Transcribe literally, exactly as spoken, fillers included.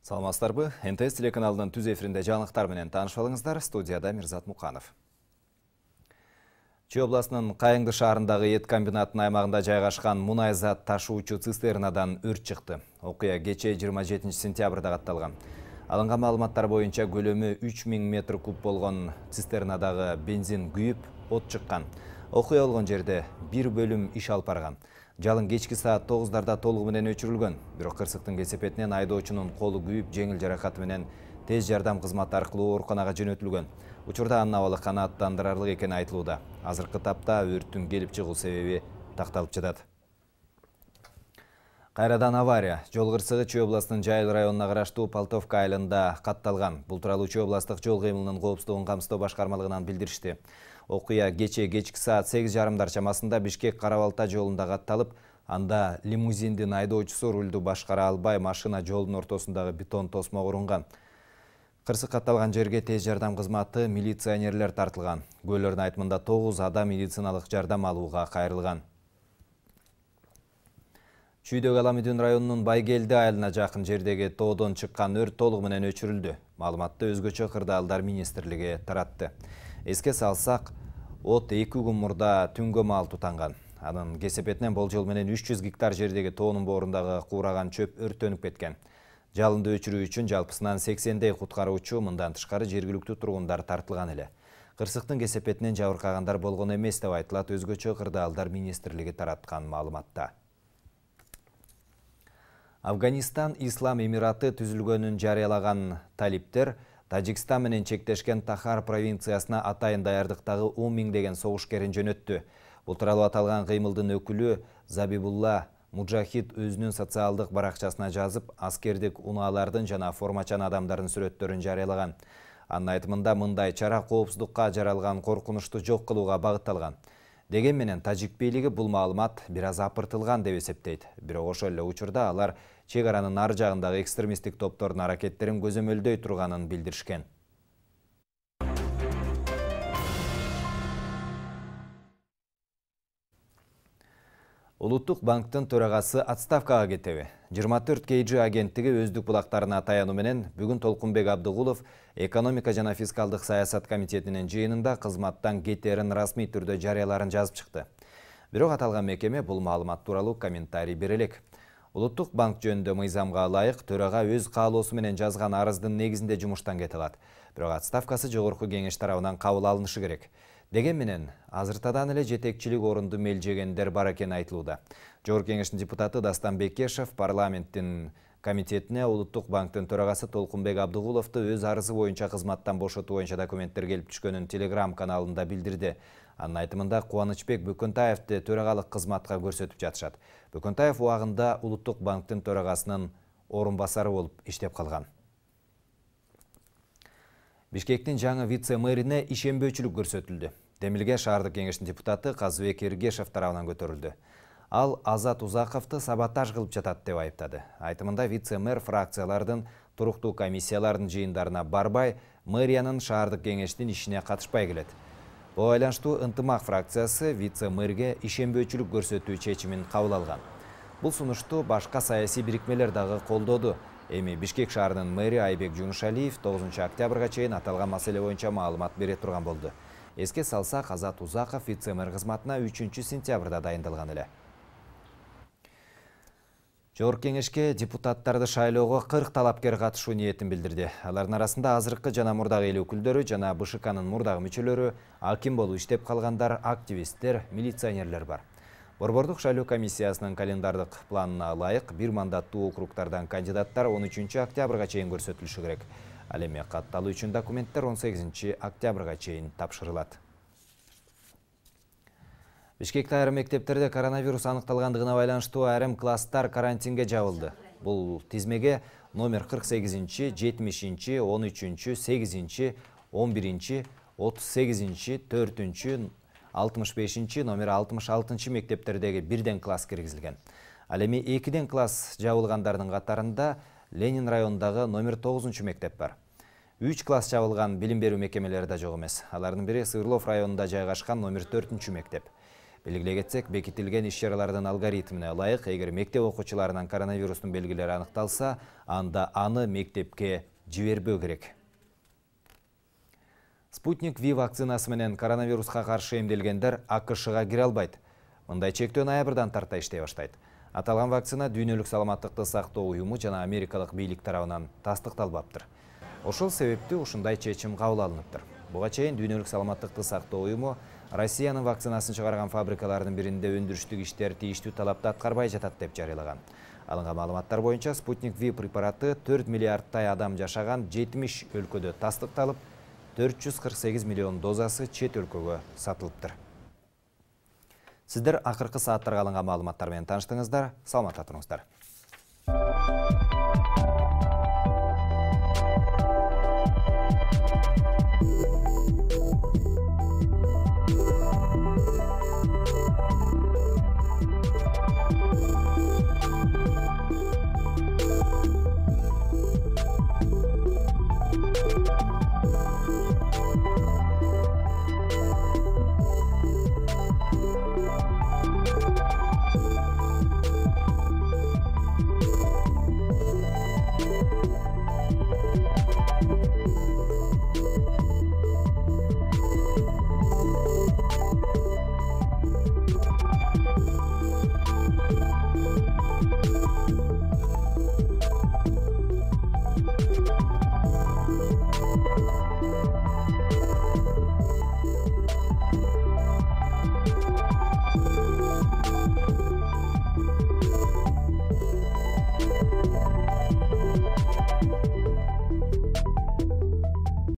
Саламатсыздарбы? эн тэ эс телеканалынын түз эфиринде жаңылыктар менен таанышып алыңыздар. Студияда Мирзат Муканов. Чүй областынын Кайыңды шаарындагы эт комбинатынын аймагында жайгашкан мунай зат ташуучу цистернадан өрт чыкты. Окуя кечээ жыйырма жетинчи сентябрда катталган. Алынган маалыматтар боюнча көлөмү үч миң метр куб болгон цистернадагы бензин күйүп, от чыккан. Окуя болгон жерде бир бөлүм иш алып барган. Жалын кечки саат тогуздарда толугу менен өчүрүлгөн. Бирок кырсыктын кесепетинен айдоочунун колу күйүп, жеңил жаракаты менен тез жардам кызматы аркылуу ооруканага жөнөтүлгөн. Учурда анын абалы канааттандырарлык экени айтылууда. Азыркы тапта өрттүн келип чыгуу себеби такталып жатат. Кайрадан авария. Жол кырсыгы Чүй областынын Жайыл районуна караштуу Полтовка айылында катталган. Бул тууралуу Чүй областык жол кыймылынын коопсуздугун камсыздоо башкармалыгынан билдиришти. Окуя кечээ кечки саат сегиз жарымдар чамасында Бишкек-Кара-Балта жолунда катталып, анда лимузиндин айдоочусу рулду башкара албай машина жолдун ортосундагы бетон тосмого урунган. Кырсык катталган жерге тез жардам кызматы милиционерлер тартылган. Кугөөлөрдүн айтымында тогуз адам медициналык жардам алууга кайрылган. Чүйдөгү Аламүдүн районунун Байгелди айылына жакын жердеги тоодон чыккан өрт толугу менен өчүрүлдү. Маалыматты өзгөчө кырдаалдар министрлиги таратты. Эске салсак, от эки күн мурда түнгө маал тутанган. Анын кесепетинен болжол менен үч жүз гектар жердеги тоонун боорундагы куураган чөп өрттөнүп кеткен. Жалынды өчүрүү үчүн жалпысынан сексендей куткаруучу, мындан тышкары жергиликтүү тургундар тартылган эле. Кырсыктын кесепетинен жабыркагандар болгон эмес деп айтылат өзгөчө кырдаалдар министрлиги тараткан маалыматта. Афганистан Ислам Эмираты түзүлгөнүн жарыялаган талиптер Тажикстан менен чектешкен Тахар провинциясына атайын даярдыктагы он миңдеген согушкерин жөнөттү. Бул тууралуу аталган кыймылдын өкүлү Забибулла Муджахид өзүнүн социалдык баракчасына жазып, аскердик унаалардын жана формачан адамдардын сүрөттөрүн жарыялаган. Анын айтымында мындай чара коопсуздукка жаралган коркунучту жок кылууга багытталган. Деген менен тажик бийлиги бул маалымат бир аз апыртылган деп эсептейт. Бирок ошол эле учурда алар чек аранын ар жагындагы экстремисттик топтордун аракеттерин көзөмөлдөй турганын билдиришкен. Улуттук банктын төрагасы отставкага кетеби? жыйырма төрт кей джи агенттиги өздүк булактарына таянуу менен бүгүн Толкунбек Абдыгулов экономика жана фискалдык саясат комитетинин жыйынында кызматтан кетерин расмий түрдө жарыяларын жазып чыкты. Бирок аталган мекеме бул маалымат тууралуу комментарий бере элек. Улуттук банк жөнүндө мыйзамга ылайык төрага өз каалоосу менен жазган арыздын негизинде жумуштан кете алат. Бирок отставкасы жогорку кеңеш тарабынан кабыл алынышы керек. Деген менен азыртадан эле жетекчилик орунду мелжегендер бар экени айтылууда. Жогорку кеңештин депутаты Дастан Бекешев парламенттин комитетине Улуттук банктын төрагасы Толкунбек Абдыгуловду өз арызы боюнча кызматтан бошотуу боюнча документтер келип түшкөнүн Telegram каналында билдирди. Анын айтымында Кубанычбек Бөкөнтаевди төрагалык кызматка көрсөтүп жатышат. Бөкөнтаев убагында Улуттук банктын төрагасынын орун басары болуп иштеп калган. Бишкектин жаңы вице-мэрине ишенбөөчүлүк көрсөтүлдү. Демилге шаардык кеңештин депутаты Казыбек Эргешев тарабынан көтөрүлдү. Ал Азат Узаковду саботаж кылып жатат деп айыптады. Айтымында вице-мэр фракциялардын туруктуу комиссиялардын жыйындарына барбай, мэриянын шаардык кеңештин ишине катышпай келет. Буга байланыштуу Ынтымак фракциясы вице-мэрге ишенбөөчүлүк көрсөтүү чечимин кабыл алган. Бул сунушту башка саясий бирикмелер дагы колдоду. Эми Бишкек шаарынын мэри Айбек Жунушалиев тогузунчу октябрга чейин аталган маселе боюнча маалымат бере турган болду. Эске салсак, Азат Узаков вице-мэр кызматына үчүнчү сентябрда дайындалган эле. Жогорку кеңешке депутаттарды шайлоого кырк талапкер катышуу ниетин билдирди. Алардын арасында азыркы жана мурдагы эл өкүлдөрү жана бэ ш кнын мурдагы мүчөлөрү, аким болуп иштеп калгандар, активисттер, милиционерлер бар. Борбордук шайлоо комиссиясынын календардык планына ылайык бир мандаттуу округтардан кандидаттар он үчүнчү октябрга чейин көрсөтүлүшү керек. Ал эми катталуу үчүн документтер он сегизинчи октябрга чейин тапшырылат. Бишкекте айрым мектептерде коронавирус аныкталгандыгына байланыштуу айрым класстар карантинге жабылды. Бул тизмеге номер кырк сегизинчи, жетимишинчи, он үчүнчү, сегизинчи, он биринчи, отуз сегизинчи, төртүнчү, алтымыш бешинчи, номер алтымыш алтынчы мектептердеги бирден класс киргизилген. Ал эми экиден класс жабылгандардын катарында Ленин районундагы номер тогузунчу мектеп бар. үч класс жабылган билим берүү мекемелери да жок эмес. Алардын бири Сырлов районунда жайгашкан номер төртүнчү мектеп. Белгилей кетсек, бекитилген иш-чаралардын алгоритмине ылайык, эгер мектеп окуучуларынан коронавирустун белгилери аныкталса, анда аны мектепке жибербөө керек. Спутник Ви вакцинасы менен коронавируска каршы эмделгендер АКШга кире албайт. Мындай чектөө ноябрдан тарта иштей баштайт. Аталган вакцина Дүйнөлүк саламаттыкты сактоо уюму жана америкалык бийлик тарабынан тастыкталбаптыр. Ошол себептүү ушундай чечим кабыл алыныптыр. Буга чейин Дүйнөлүк саламаттыкты сактоо уюму Россиянын вакцинасын чыгарган фабрикалардын биринде өндүрүштүк иштер тийиштүү талапты аткарбай жатат деп жарыялаган. Алынган маалыматтар боюнча Спутник Ви препараты төрт миллиардтай адам жашаган жетимиш өлкөдө тастыкталып, төрт жүз кырк сегиз миллион дозасы чет өлкөгө сатылыптыр. Сиздер акыркы сааттарга алынган маалыматтар менен тааныштыңыздар. Саламатта туруңуздар.